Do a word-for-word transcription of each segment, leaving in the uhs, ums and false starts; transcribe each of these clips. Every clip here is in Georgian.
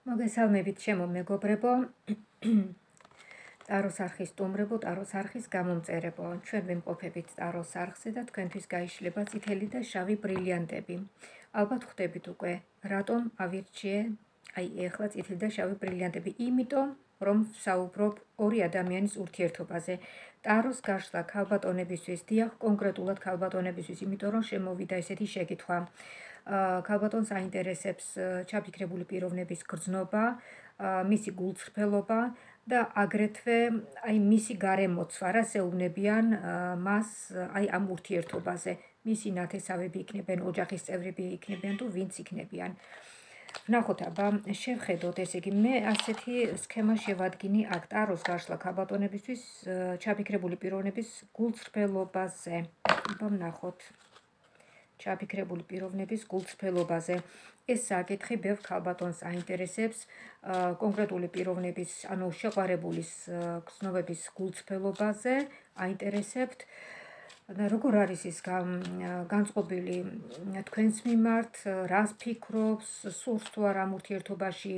მოგესალმებით ჩემო მეგობრებო, ტაროს არხის სტუმრებო, ტაროს არხის გამომწერებო. ჩვენ ვიმყოფებით ტაროს არხზე და თქვენთვის გაიშლება წითელი და შავი ბრილიანტები. ალბათ ხვდებით უკვე, რატომ ავირჩიე აი ეხლა წითელი და შავი ბრილიანტები? იმიტომ, რომ ვსაუბრობ ორი ადამიანის ურთიერთობაზე. ტაროს გაშლა ქალბატონებისთვის, დიახ, კონკრეტულად ქალბატონებისთვის, იმიტომ რომ შემოვიდა ესეთი შეკითხვა. ქალბატონს აინტერესებს ჩაფიქრებული პიროვნების გრძნობა, მისი გულწრფელობა და აგრეთვე აი მისი გარემოცვა, რას ეუბნებიან მას აი ამ ურთიერთობაზე. მისი ნათესავები იქნებიან, ოჯახის წევრები იქნებიან თუ ვინც იქნებიან. ვნახოთ აბა, შევხედოთ, ესე იგი, მე ასეთი სქემა შევადგინე აქ ტაროს გაშლა ქალბატონებისთვის ჩაფიქრებული პიროვნების გულწრფელობაზე. აბა ვნახოთ. ჩაფიქრებული პიროვნების გულწრფელობაზე. ეს საკითხი ბევრ ქალბატონს აინტერესებს, კონკრეტული პიროვნების, ანუ შეყვარებულის გრძნობების გულწრფელობაზე აინტერესებთ. როგორ არის ის განწყობილი თქვენს მიმართ, რას ფიქრობს, სურს თუ არა ამ ურთიერთობაში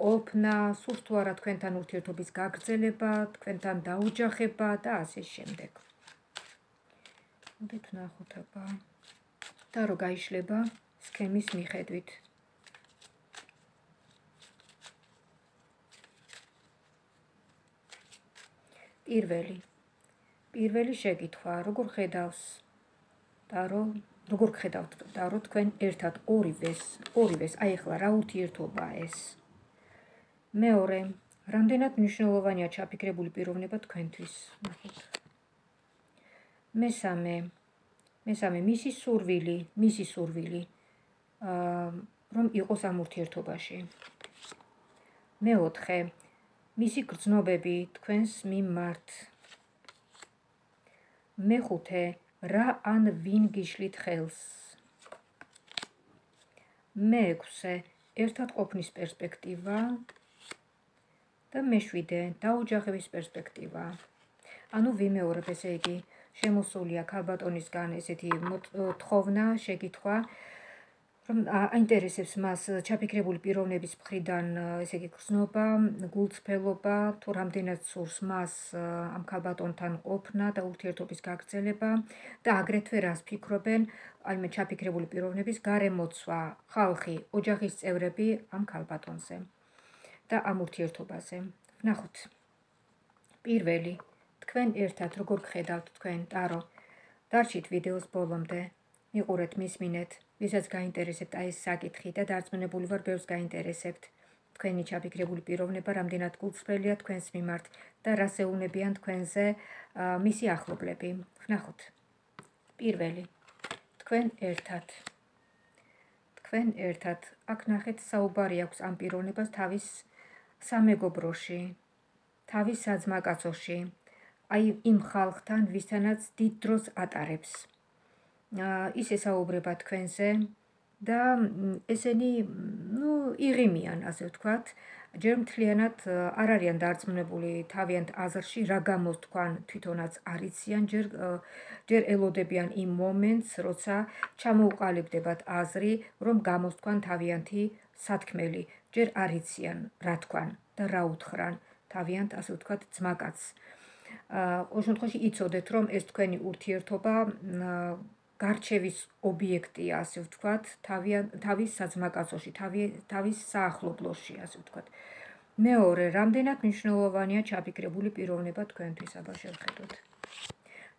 ყოფნა, სურს თუ არა თქვენთან ურთიერთობის გაგრძელება, თქვენთან დაოჯახება და ასე შემდეგ. მოდით ვნახოთ აბა. ტარო გაიშლება სქემის მიხედვით. პირველი. პირველი შეკითხვა, როგორ ხედავს ტარო, როგორ ხედავთ ტარო თქვენ ერთად ორივეს, ორივეს, აი ახლა რა ურთიერთობაა ეს? მეორე, რამდენად მნიშვნელოვანია ჩაფიქრებული პიროვნება თქვენთვის? ნახოთ. მესამე. მესამე, მისი სურვილი, მისი სურვილი, რომ იყოს ამ ურთიერთობაში. მეოთხე, მისი გრძნობები თქვენს მიმართ. მეხუთე, რა ან ვინ გიშლით ხელს? მეექვსე, ერთად ყოფნის პერსპექტივა და მეშვიდე, დაოჯახების პერსპექტივა. ანუ ვიმეორებ, ესე იგი, შემოსულია ქალბატონისგან ესეთი თხოვნა, შეკითხვა, რომ აინტერესებს მას ჩაფიქრებული პიროვნების მხრიდან, ესე იგი, გრძნობა, გულწრფელობა, თუ რამდენად სურს მას ამ ქალბატონთან ყოფნა და ურთიერთობის გაგრძელება და აგრეთვე რას ფიქრობენ აი მე ჩაფიქრებული პიროვნების გარემოცვა, ხალხი, ოჯახის წევრები ამ ქალბატონზე და ამ ურთიერთობაზე. ვნახოთ. პირველი. თქვენ ერთად როგორ გხედავთ თქვენ ტარო? დარჩით ვიდეოს ბოლომდე, მიყურეთ, მისმინეთ, ვისაც გაინტერესებთ აი ეს საკითხი და დარწმუნებული ვარ ბევრს გაინტერესებთ. თქვენი ჩაფიქრებული პიროვნება რამდენად გულწრფელია თქვენს მიმართ და რას ეუბნებიან თქვენზე მისი ახლობლები. ვნახოთ. პირველი. თქვენ ერთად. თქვენ ერთად. აქ ნახეთ, საუბარი აქვს ამ პიროვნებას თავის სამეგობროში, თავის საძმაკაცოში. აი იმ ხალხთან, ვისთანაც დიდ დროს ატარებს. ის ესაუბრება თქვენზე და ესენი, ნუ, იღიმიან, ასე ვთქვათ, ჯერ მთლიანად არ არიან დარწმუნებული თავიანთ აზრში, რა გამოს თქვენ თვითონაც არ იციან, ჯერ ჯერ ელოდებიან იმ მომენტს, როცა ჩამოუყალიბდებათ აზრი, რომ გამოს თქვენ თავიანთი სათქმელი, ჯერ არ იციან რა თქვენ და რა უთხრან თავიანთ, ასე ვთქვათ, ძმაკაცს. ყოველ შემთხვევაში იცოდეთ, რომ ეს თქვენი ურთიერთობა გარჩევის ობიექტია, ასე ვთქვათ, თავის საძმაკაცოში, თავის საახლობლოში, ასე ვთქვათ. მეორე, რამდენად მნიშვნელოვანია ჩაფიქრებული პიროვნება თქვენთვის? აბა შევხედოთ.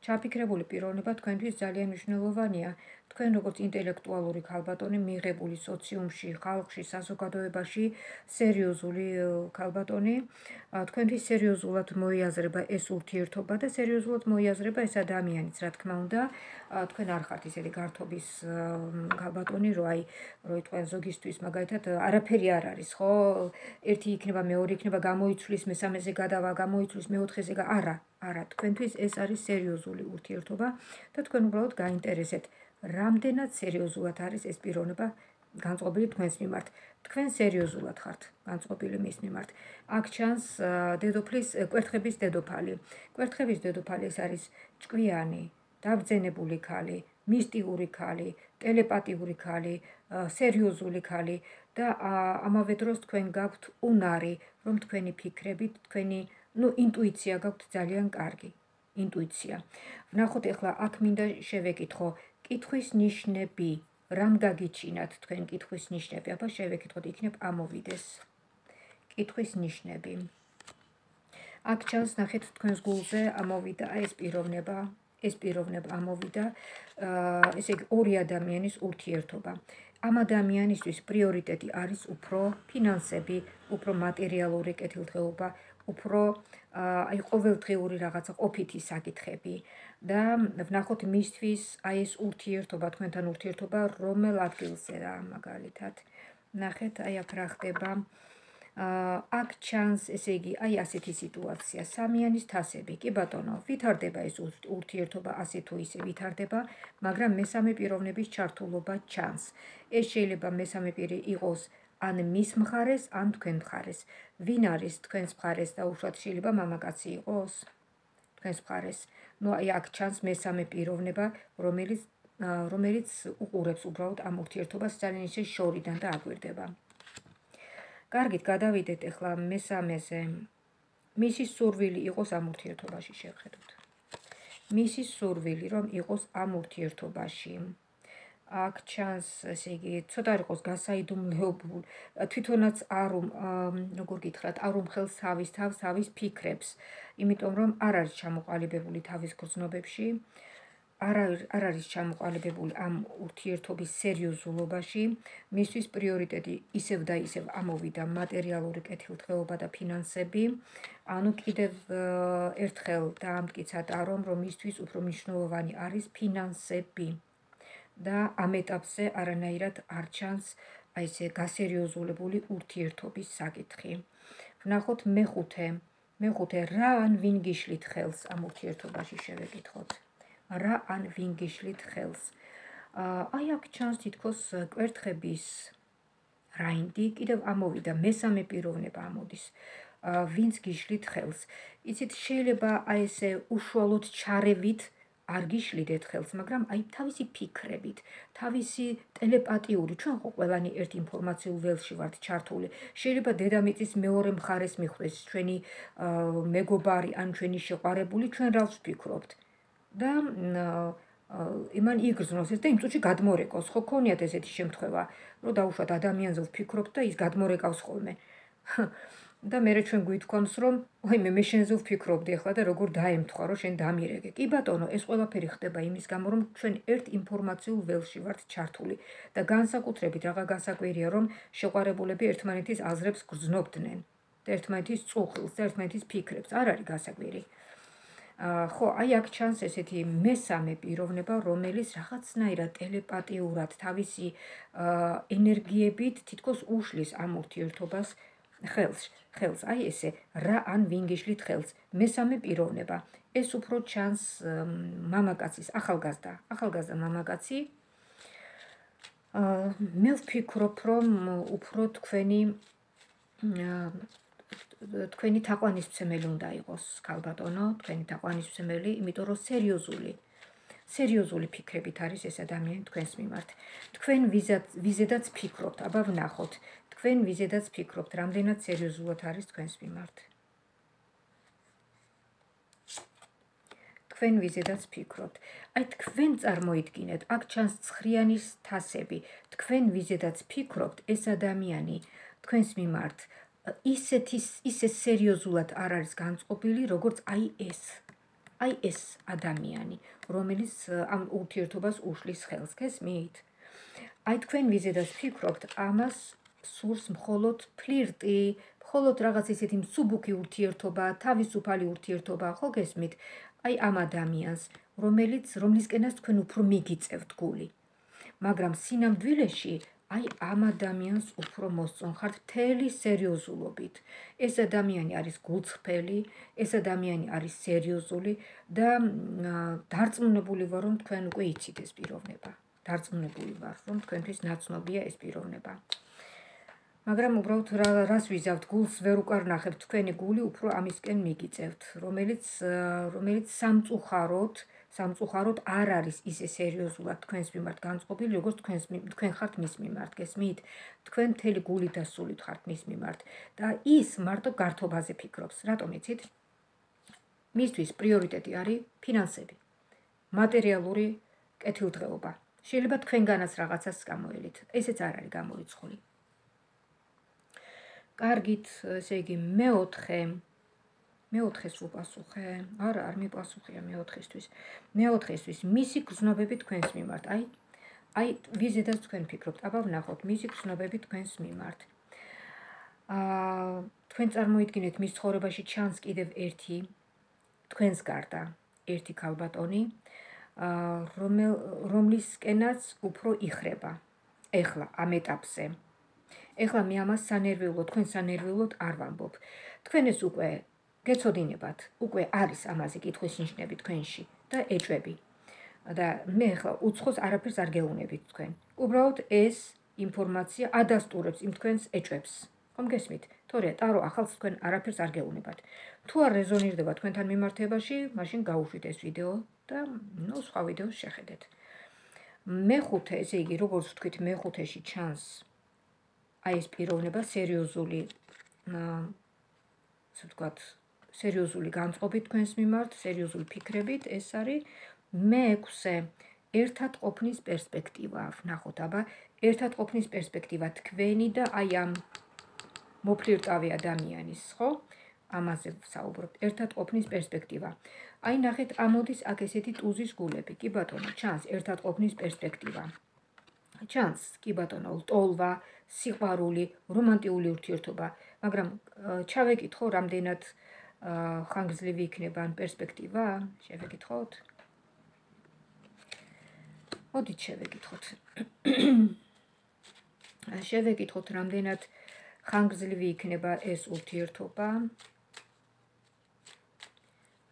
ჩაფიქრებული პიროვნება თქვენთვის ძალიან მნიშვნელოვანია. თქვენ როგორც ინტელექტუალური ქალბატონი, მიღებული სოციუმში, ხალხში, საზოგადოებაში, სერიოზული ქალბატონი, თქვენთვის სერიოზულად მოიაზრება ეს ურთიერთობა და სერიოზულად მოიაზრება ეს ადამიანიც, რა თქმა უნდა, თქვენ არ ხართ ისეთი გართობის ქალბატონი, რომ აი, რომ თქვენ ზოგისთვის მაგალითად არაფერი არ არის, ხო? ერთი იქნება, მეორე იქნება, გამოიცვლის, მესამეზე გადავა, გამოიცვლის, მეოთხეზე და არა, არა, თქვენთვის ეს არის სერიოზული ურთიერთობა და თქვენ უბრალოდ გაინტერესებთ, რამდენად სერიოზულად არის ეს პიროვნება განწყობილი თქვენს მიმართ. თქვენ სერიოზულად ხართ განწყობილი მის მიმართ. აქ ჩანს დედოფლის, კვერთხების დედოფალი. კვერთხების დედოფალი ეს არის ჭკვიანი, დაბრძენებული ქალი, მისტიური ქალი, ტელეპათიური ქალი, სერიოზული ქალი და ამავე დროს თქვენ გაქვთ უნარი, რომ თქვენი ფიქრებით, თქვენი, ну, ინტუიცია გაქვთ ძალიან კარგი. ინტუიცია. ვნახოთ ახლა აქ მინდა შევეკითხო კითხვის ნიშნები, რამ გაგიჩინათ თქვენ კითხვის ნიშნები? აბა შევეკითხოთ, იქნებ ამოვიდეს. კითხვის ნიშნები. აქ ჩანს ნახეთ თქვენს გულზე ამოვიდა ეს პიროვნება, ეს პიროვნება ამოვიდა, ესე იგი ორი ადამიანის ურთიერთობა. ამ ადამიანისთვის პრიორიტეტი არის უფრო ფინანსები, უფრო მატერიალური კეთილდღეობა, უფრო აი ყოველდღიური რაღაცა ყოფითი საკითხები და ვნახოთ მისთვის აი ეს ურთიერთობა, თქვენთან ურთიერთობა რომელ ადგილზეა მაგალითად. ნახეთ, აი აქ რა ხდება. აქ ჩანს, ესე იგი, აი ასეთი სიტუაცია, სამიანის თასები. კი ბატონო, ვითარდება ეს ურთიერთობა ასე თუ ისე ვითარდება, მაგრამ მესამე პიროვნების ჩართულობა ჩანს. ეს შეიძლება მესამე პირი იყოს ან მის მხარეს, ან თქვენ მხარეს. ვინ არის თქვენს მხარეს და უშუალოდ შეიძლება მამაკაცი იყოს თქვენს მხარეს. ნუ აი აქ ჩანს მესამე პიროვნება, რომელიც რომელიც უყურებს უბრალოდ ამ ურთიერთობას ძალიან ისე შორიდან და აგვირდება. კარგით, გადავიდეთ ახლა მესამეზე. მისი სურვილი იყოს ამ ურთიერთობაში, შევხედოთ. მისი სურვილი რომ იყოს ამ ურთიერთობაში. აქ ჩანს, ესე იგი, ცოტა არ იყოს გასაიდუმლოებული, თვითონაც არ როგორ გითხრათ, არ უმხელს თავის თავს, თავის ფიქრებს, იმიტომ რომ არ არის ჩამოყალიბებული თავის გრძნობებში, არ არის ჩამოყალიბებული ამ ურთიერთობის სერიოზულობაში, მისთვის პრიორიტეტი ისევ და ისევ ამოვიდა მატერიალური კეთილდღეობა და ფინანსები, ანუ კიდევ ერთხელ დაამტკიცათ რომ, რომ მისთვის უფრო მნიშვნელოვანი არის ფინანსები. და ამ ეტაპზე არანაირად არ ჩანს აი ესე გასერიოზულებული ურთიერთობის საკითხი. ვნახოთ მეხუთე, მეხუთე რა ან ვინ გიშლით ხელს ამ ურთიერთობაში შევეკითხოთ. რა ან ვინ გიშლით ხელს. აი აქ ჩანს თითქოს კვერთხების რაინდი, კიდევ ამოვიდა მესამე პიროვნება ამოდის. ვინც გიშლით ხელს. იცით, შეიძლება აი ესე უშუალოდ ჩარევით არ გიშლიდეთ ხელს, მაგრამ აი თავისი ფიქრებით, თავისი ტელეპათიური, ჩვენ ხო ყველანი ერთ ინფორმაციულ ველში ვართ ჩართული. შეიძლება დედამიწის მეორე მხარეს მიხვდეს ჩვენი მეგობარი ან ჩვენი შეყვარებული, ჩვენ რას ვფიქრობთ. და იმან იგრძნოს ეს და იმ წუთში გადმორეკოს. ხო ქონიათ ესეთი შემთხვევა, რომ დაუშვათ ადამიანზე ვფიქრობთ და ის გადმორეკავს ხოლმე. და მერე ჩვენ გვითქვამს, რომ ვაიმე მე შენზე ვფიქრობდი ახლა და როგორ დაემთხვა, რომ შენ დამირეკე. კი ბატონო, ეს ყველაფერი ხდება იმის გამო, რომ ჩვენ ერთ ინფორმაციულ ველში ვართ ჩართული და განსაკუთრებით რაღა გასაკვირია, რომ შეყვარებულები ერთმანეთის აზრებს გრძნობდნენ და ერთმანეთის წუხილს და ერთმანეთის ფიქრებს. არ არის გასაკვირი. ხო, აი აქ ჩანს ესეთი მესამე პიროვნება, რომელიც რაღაცნაირად ტელეპათიურად თავისი ენერგიებით თითქოს უშლის ამ ურთიერთობას ხელს, ხელს, აი ესე, რა ან ვინ გიშლით ხელს, მესამე პიროვნება. ეს უფრო ჩანს მამაკაცის, ახალგაზრდა, ახალგაზრდა მამაკაცი. მე ვფიქრობ, რომ უფრო თქვენი თქვენი თაყვანისმცემელი უნდა იყოს, ქალბატონო, თქვენი თაყვანისმცემელი, იმიტომ რომ სერიოზული, სერიოზული ფიქრებით არის ეს ადამიანი თქვენს მიმართ. თქვენ ვიზედაც ფიქრობთ, აბა ვნახოთ. თქვენ ვიზედაც ფიქრობთ, რამდენად სერიოზულად არის თქვენს მიმართ. თქვენ ვიზედაც ფიქრობთ. აი თქვენ წარმოიდგინეთ, აქ ჩანს ცხრიანის თასები. თქვენ ვიზედაც ფიქრობთ, ეს ადამიანი თქვენს მიმართ ისეთი ისე სერიოზულად არ არის განწყობილი, როგორც აი ეს. აი ეს ადამიანი, რომელიც ამ ურთიერთობას უშლის ხელს, გესმით? აი თქვენ ვიზედაც ფიქრობთ, ამას სურს მხოლოდ ფლირტი, მხოლოდ რაღაც ისეთი მსუბუქი ურთიერთობა, თავისუფალი ურთიერთობა, ხო გესმით? აი ამ ადამიანს, რომელიც რომლისკენაც თქვენ უფრო მიგიწევთ გული. მაგრამ სინამდვილეში აი ამ ადამიანს უფრო მოსწონხართ მთელი სერიოზულობით. ეს ადამიანი არის გულწრფელი, ეს ადამიანი არის სერიოზული და დარწმუნებული ვარ, რომ თქვენ უკვე იცით ეს პიროვნება. დარწმუნებული ვარ, რომ თქვენთვის ნაცნობია ეს პიროვნება. მაგრამ უბრალოდ რას ვიზავთ, გულს ვერ უკარნახებთ, თქვენი გული უფრო ამისკენ მიგიწევთ, რომელიც რომელიც სამწუხაროდ, სამწუხაროდ არ არის ისე სერიოზულად თქვენს მიმართ განწყობილი, როგორც თქვენს თქვენ ხართ მის მიმართ, გესმით? თქვენ მთელი გულით და სულით ხართ მის მიმართ და ის მარტო გართობაზე ფიქრობს. რატომ იცით? მისთვის პრიორიტეტი არის ფინანსები, მატერიალური კეთილდღეობა. შეიძლება თქვენგანაც რაღაცას გამოელით. ესეც არ არის გამორიცხული. კარგით, ესე იგი მეოთხე მეოთხეს ვუპასუხე. არა, არ მიპასუხია მეოთხესთვის. მეოთხესთვის მისი გრძნობები თქვენს მიმართ. აი, აი ვიზედაც თქვენ ფიქრობთ. აბა ვნახოთ მისი გრძნობები თქვენს მიმართ. აა თქვენ წარმოიდგინეთ მის ცხოვრებაში ჩანს კიდევ ერთი თქვენს გარდა ერთი ქალბატონი, რომლისკენაც უფრო იხრება. ეხლა ამ ეტაპზე. ეხლა მე ამას სანერვიულოდ, თქვენ სანერვიულოდ არ ვამბობ. თქვენ ეს უკვე გეცოდინებათ, უკვე არის ამაზე კითხვის ნიშნები თქვენში და ეჭვები. და მე ეხლა უცხოს არაფერს არ გეუნებით თქვენ. უბრალოდ ეს ინფორმაცია ადასტურებს იმ თქვენს ეჭვებს. ხომ გესმით? თორე ტარო ახალს თქვენ არაფერს არ გეუნებათ. თუ არ რეზონირდება თქვენთან მიმართებაში, მაშინ გაუშვით ეს ვიდეო და ნუ სხვა ვიდეოს შეხედეთ. მეხუთე, ესე იგი, როგორც ვთქვით, მეხუთეში ჩანს აი ეს პიროვნება სერიოზული, ასე ვთქვათ, სერიოზული განწყობით თქვენს მიმართ, სერიოზული ფიქრებით, ეს არის მეექვსე ერთად ყოფნის პერსპექტივა. ვნახოთ, აბა, ერთად ყოფნის პერსპექტივა თქვენი და აი ამ მოფლირტავი ადამიანის, ხო? ამაზე ვსაუბრობთ, ერთად ყოფნის პერსპექტივა. აი ნახეთ, ამოდის აქ ესეთი ტუზის გულები. კი ბატონო, ჩანს ერთად ყოფნის პერსპექტივა. ჩანს, კი ბატონო, ლტოლვა, სიყვარული, რომანტიული ურთიერთობა, მაგრამ ჩავეკითხო, რამდენად ხანგრძლივი იქნება ან პერსპექტივა? შევეკითხოთ. მოდით შევეკითხოთ. შევეკითხოთ, რამდენად ხანგრძლივი იქნება ეს ურთიერთობა.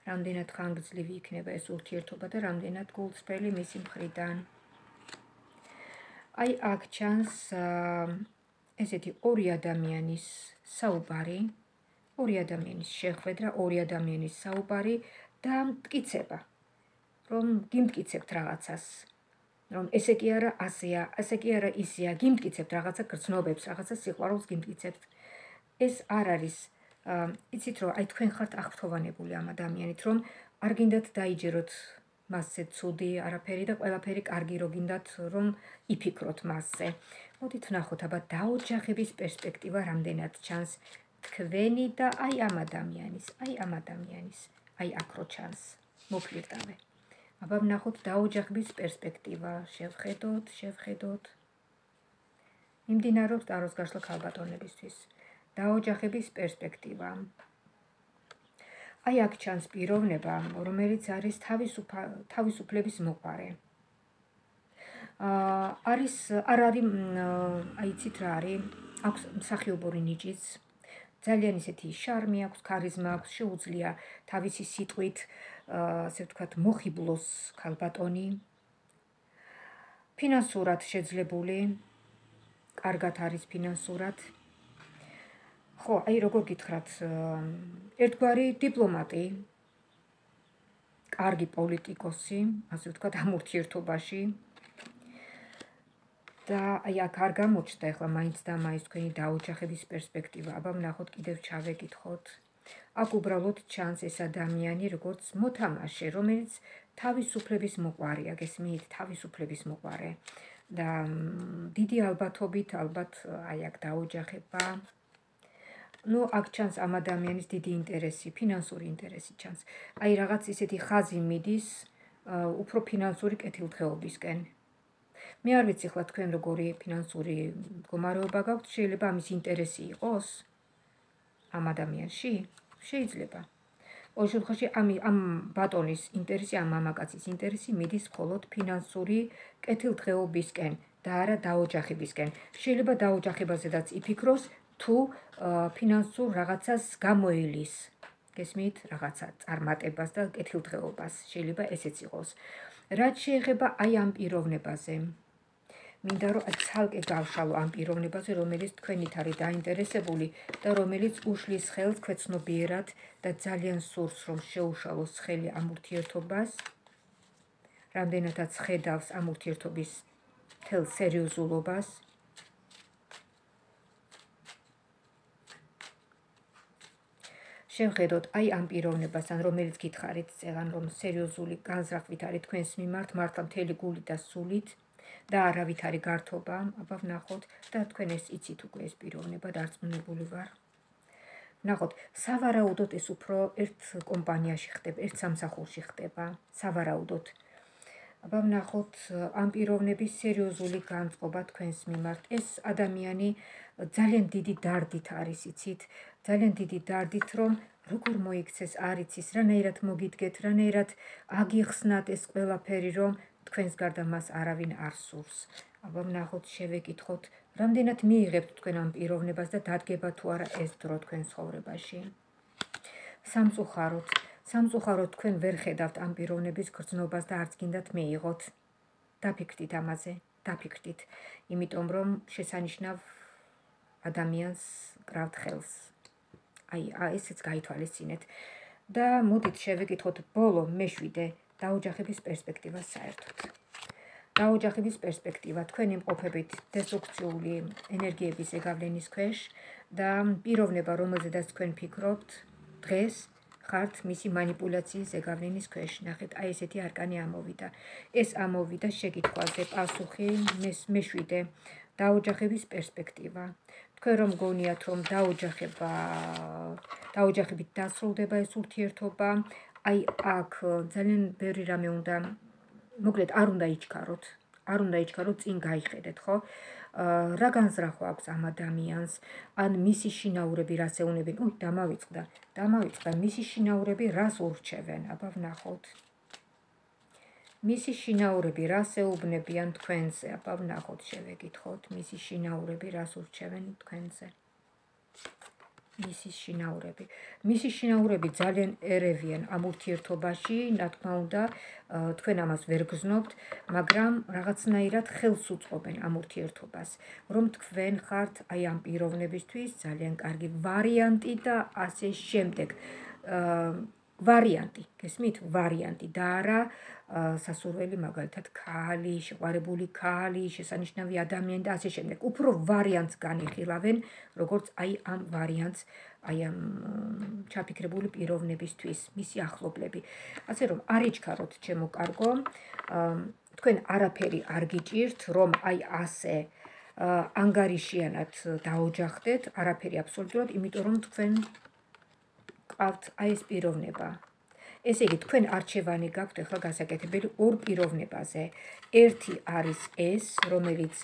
რამდენად ხანგრძლივი იქნება ეს ურთიერთობა და რამდენად გულწრფელი მისი მხრიდან. აი აქ ჩანს ესეთი ორი ადამიანის საუბარი, ორი ადამიანის შეხვედრა, ორი ადამიანის საუბარი და მტკიცება, რომ გიმტკიცებთ რაღაცას, რომ ესე კი არა ასეა, ასე კი არა ისეა, გიმტკიცებთ რაღაცა გრძნობებს, რაღაცა სიყვარულს გიმტკიცებთ. ეს არ არის, იცით რომ აი თქვენ ხართ აღფრთოვანებული ამ ადამიანით, რომ არ გინდათ დაიჯეროთ მასზე ცუდი არაფერი და ყველაფერი კარგი რო გინდათ რომ იფიქროთ მასზე. მოდით ვნახოთ, აბა დაოჯახების პერსპექტივა რამდენად ჩანს თქვენი და აი ამ ადამიანის, აი ამ ადამიანის, აი აქ რო ჩანს, მოფლირტავე. აბა ვნახოთ დაოჯახების პერსპექტივა, შევხედოთ, შევხედოთ. მიმდინარეობს ტაროს გაშლა ქალბატონებისთვის. დაოჯახების პერსპექტივა. აი აქ ჩანს პიროვნება, რომელიც არის თავისუფლების მოყვარე. არის არ არის, აი იცით რა არის, აქვს მსახიობური ნიჭიც, ძალიან ისეთი შარმი აქვს, ქარიზმა აქვს, შეუძლია თავისი სიტყვით, ასე ვთქვათ, მოხიბლოს ქალბატონი. ფინანსურად შეძლებული, კარგად არის ფინანსურად. ხო, აი როგორ გითხრათ, ერთგვარი დიპლომატი, კარგი პოლიტიკოსი, ასე ვთქვათ, ამ ურთიერთობაში. და აი აქ არ გამოჩნდა ახლა მაინც და მაინც თქვენი დაოჯახების პერსპექტივა. აბა ვნახოთ, კიდევ ჩავეკითხოთ. აქ უბრალოდ ჩანს ეს ადამიანი, როგორც მოთამაშე, რომელიც თავისუფლების მოყვარია, გესმით, თავისუფლების მოყვარე. და დიდი ალბათობით, ალბათ აი აქ დაოჯახება. ნუ აქ ჩანს ამ ადამიანის დიდი ინტერესი, ფინანსური ინტერესი ჩანს. აი რაღაც ისეთი ხაზი მიდის უფრო ფინანსური კეთილდღეობისკენ. მე არ ვიცი ხლა თქვენ როგორი ფინანსური მდგომარეობა გაქვთ, შეიძლება ამის ინტერესი იყოს ამ ადამიანში? შეიძლება. ყოველ შემთხვევაში ამ ამ ბატონის ინტერესი, ამ მამაკაცის ინტერესი მიდის მხოლოდ ფინანსური კეთილდღეობისკენ და არა დაოჯახებისკენ. შეიძლება დაოჯახებაზედაც იფიქროს, თუ ფინანსურ რაღაცას გამოელის, გესმით, რაღაცა წარმატებას და კეთილდღეობას, შეიძლება ესეც იყოს. რაც შეეხება აი ამ პიროვნებაზე, მინდა რომ ცალკე გავშალო ამ პიროვნებაზე, რომელიც თქვენით არის დაინტერესებული და რომელიც უშლის ხელს ქვეცნობიერად და ძალიან სურს, რომ შეუშალოს ხელი ამ ურთიერთობას. რამდენადაც ხედავს ამ ურთიერთობის მთელ სერიოზულობას. შევხედოთ აი ამ პიროვნებასთან, რომელიც გითხარით წეგან, რომ სერიოზული განზრახვით არის თქვენს მიმართ, მართლა მთელი გულით და სულით და არავით არის გართობა, აბა ვნახოთ და თქვენ ეს იცით უკვე ეს პიროვნება დარწმუნებული ვარ. ვნახოთ, სავარაუდოდ ეს უფრო ერთ კომპანიაში ხდება, ერთ სამსახურში ხდება, სავარაუდოდ. აბა ვნახოთ ამ პიროვნების სერიოზული განწყობა თქვენს მიმართ. ეს ადამიანი ძალიან დიდი დარდით არის, იცით, ძალიან დიდი დარდით, რომ როგორ მოიქცეს არ იცის, რანაირად მოგიდგეთ, რანაირად აგიხსნათ ეს ყველაფერი, რომ თქვენს გარდა მას არავინ არ სურს. აბა ვნახოთ, შევეკითხოთ, რამდენად მიიღებთ თქვენ ამ პიროვნებას და დადგება თუ არა ეს დრო თქვენ ცხოვრებაში. სამწუხაროდ, სამწუხაროდ თქვენ ვერ ხედავთ ამ პიროვნების გრძნობას და არც გინდათ მეიღოთ. დაფიქრდით ამაზე, დაფიქრდით, იმიტომ რომ შესანიშნავ ადამიანს კრავთ ხელს. აი, ესეც გაითვალისწინეთ. და მოდით შევეკითხოთ ბოლო მეშვიდე დაოჯახების პერსპექტივას საერთოდ. დაოჯახების პერსპექტივა თქვენ იმყოფებით დესტრუქციული ენერგიების ზეგავლენის ქვეშ და პიროვნება, რომელზედაც თქვენ ფიქრობთ, დღეს ხართ მისი манипуляციის ზეგავლენის ქვეშ. ნახეთ, აი ესეთი არკანი ამოვიდა. ეს ამოვიდა შეკითხვაზე პასუხი მეშვიდე დაოჯახების პერსპექტივა. თქვენ რომ გონიათ, რომ დაოჯახება, დაოჯახებით დასრულდება ეს ურთიერთობა, აი აქ ძალიან ბევრი რამე უნდა, მოკლედ არ უნდა იჩქაროთ, არ უნდა იჩქაროთ, წინ გაიხედეთ, ხო? რა განზრახვა აქვს ამ ადამიანს, ან მისი შინაურები რას ეუბნებიან? უი, დამავიწყდა, დამავიწყდა, მისი შინაურები რას ურჩევენ? აბა ვნახოთ. მისი შინაურები რას ეუბნებიან თქვენზე? აბა ვნახოთ, შევეკითხოთ, მისი შინაურები რას ურჩევენ თქვენზე? მისი შინაურები. მისი შინაურები ძალიან ერევიან ამ ურთიერთობაში, რა თქმა უნდა, თქვენ ამას ვერ გრძნობთ, მაგრამ რაღაცნაირად ხელს უწყობენ ამ ურთიერთობას, რომ თქვენ ხართ აი ამ პიროვნებისთვის ძალიან კარგი ვარიანტი და ასე შემდეგ. ვარიანტი, გესმით? ვარიანტი და არა სასურველი, მაგალითად, ქალი, შეყვარებული ქალი, შესანიშნავი ადამიანი და ასე შემდეგ. უფრო ვარიანტს განიხილავენ, როგორც აი ამ ვარიანტს, აი ამ ჩაფიქრებული პიროვნებისთვის, მისი ახლობლები. ასე რომ, არ იჩქაროთ, ჩემო კარგო, თქვენ არაფერი არ გიჭირთ, რომ აი ასე ანგარიშიანად დაოჯახდეთ, არაფერი აბსოლუტურად, იმიტომ რომ თქვენ ყავთ აი ეს პიროვნება. ესე იგი, თქვენ არჩევანი გაქვთ ახლა გასაკეთებელი ორ პიროვნებაზე. ერთი არის ეს, რომელიც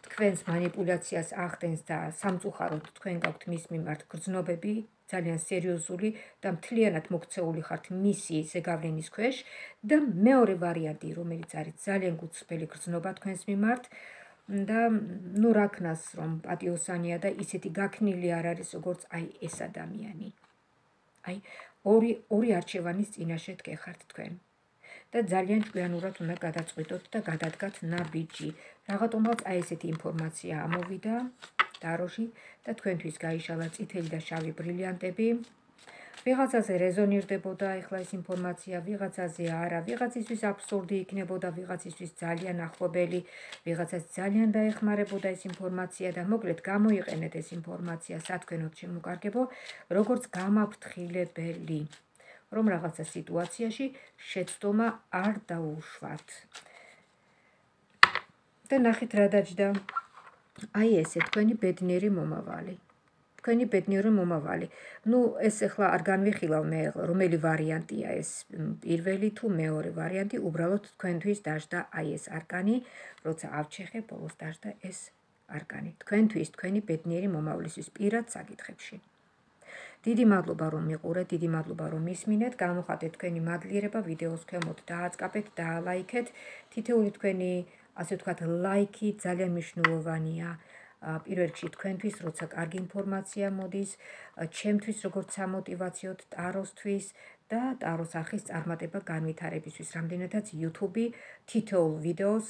თქვენს манипуляციას ახდენს და სამწუხაროდ თქვენ გაქვთ მის მიმართ გრძნობები, ძალიან სერიოზული და მთლიანად მოქცეული ხართ მისი ზეგავლენის ქვეშ და მეორე ვარიანტი, რომელიც არის ძალიან გულწრფელი გრძნობა თქვენს მიმართ და ნუ რა ქნას, რომ პატიოსანია და ისეთი გაქნილი არ არის, როგორც აი ეს ადამიანი. აი, ორი ორი არჩევანის წინაშე დგეხართ თქვენ. და ძალიან ჭკვიანურად უნდა გადაწყვიტოთ და გადადგათ ნაბიჯი. რაღაცომაც აი ესეთი ინფორმაცია ამოვიდა ტაროში და თქვენთვის გაიშალა წითელი და შავი ბრილიანტები. ვიღაცაზე რეზონირდებოდა ახლა ეს ინფორმაცია, ვიღაცაზე არა, ვიღაცისთვის აბსურდი იქნებოდა, ვიღაცისთვის ძალიან ახლობელი, ვიღაცას ძალიან დაეხმარებოდა ეს ინფორმაცია და მოკლედ გამოიყენეთ ეს ინფორმაცია სათქვენოდ შემოკარგებო, როგორც გამაფრთხილებელი, რომ რაღაცა სიტუაციაში შეცდომა არ დაუშვათ. და ნახეთ რა დაჯდა. აი ესე თქვენი ბედნიერი მომავალი. თქვენი ბედნიერი მომავალი. ნუ ეს ახლა არ განვიხილავ მე, რომელი ვარიანტია ეს, პირველი თუ მეორე ვარიანტი, უბრალოდ თქვენთვის დაждდა აი ეს არკანი, როცა ავჩეხე, ბოლოს დაждდა ეს არკანი. თქვენთვის, თქვენი ბედნიერი მომავლისთვის პირად საკითხებში. დიდი მადლობა რომ მიყურეთ, დიდი მადლობა რომ მისმინეთ, გამოხატეთ თქვენი მადლიერება ვიდეოს ქვემოთ, დააწყაბეთ, დაალაიქეთ. თითეული თქვენი, ასე ვთქვათ, ლაიქი ძალიან მნიშვნელოვანია. პირველ რიგში თქვენთვის, როცა კარგი ინფორმაცია მოდის, ჩემთვის როგორც სამოტივაციოდ ტაროსთვის და ტაროს არხის წარმატება განვითარებისთვის, რამდენადაც YouTube თითოეულ ვიდეოს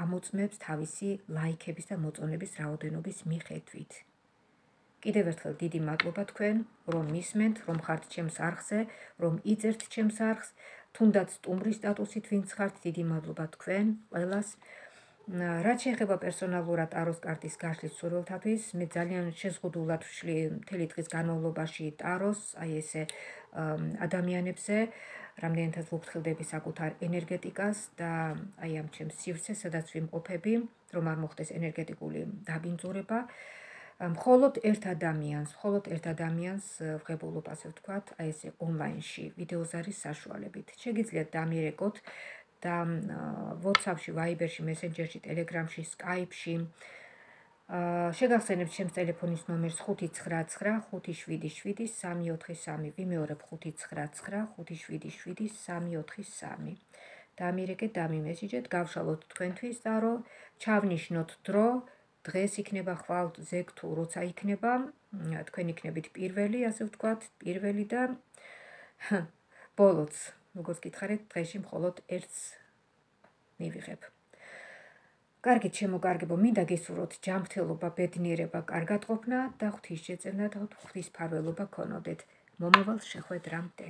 ამოწმებს თავისი ლაიქების და მოწონების რაოდენობის მიხედვით. კიდევ ერთხელ დიდი მადლობა თქვენ, რომ მისმენთ, რომ ხართ ჩემს არხზე, რომ იწერთ ჩემს არხს თუნდაც სტუმრის სტატუსით ვინც ხართ, დიდი მადლობა თქვენ ყველას. რაც შეეხება პერსონალურად ტაროს კარტის გაშლის მსურველთათვის, მე ძალიან შეზღუდულად ვშლი მთელი დღის განმავლობაში ტაროს, აი ესე ადამიანებზე, რამდენადაც ვუფრთხილდები საკუთარ ენერგეტიკას და აი ამ ჩემს სივრცეს, სადაც ვიმყოფები, რომ არ მოხდეს ენერგეტიკული დაბინძურება. მხოლოდ ერთ ადამიანს, მხოლოდ ერთ ადამიანს ვღებულობ, ასე ვთქვათ, აი ესე ონლაინში ვიდეოზარის საშუალებით. შეგიძლიათ დამირეკოთ და WhatsApp-ში, Viber-ში, Messenger-ში, Telegram-ში, Skype-ში. შეგახსენებთ ჩემს ტელეფონის ნომერს ხუთი ცხრა ცხრა ხუთი შვიდი შვიდი სამი ოთხი სამი. ვიმეორებ ხუთი ცხრა ცხრა ხუთი შვიდი შვიდი სამი ოთხი სამი. დამირეკეთ, დამიმესიჯეთ, გავშალოთ თქვენთვის ტარო, ჩავნიშნოთ დრო. დღეს იქნება ხვალ ზეგ თუ როცა იქნება, თქვენ იქნებით პირველი, ასე ვთქვათ, პირველი და ბოლოც, როგორც გითხარით, დღეში მხოლოდ ერთს მივიღებ. კარგით, შემოგარგებო, მინდა გისურვოთ ჯანმრთელობა, ბედნიერება, კარგად ყოფნა და ღვთის შეწევნა და ღვთის მფარველობა გქონოდეთ. მომავალ შეხვედრამდე.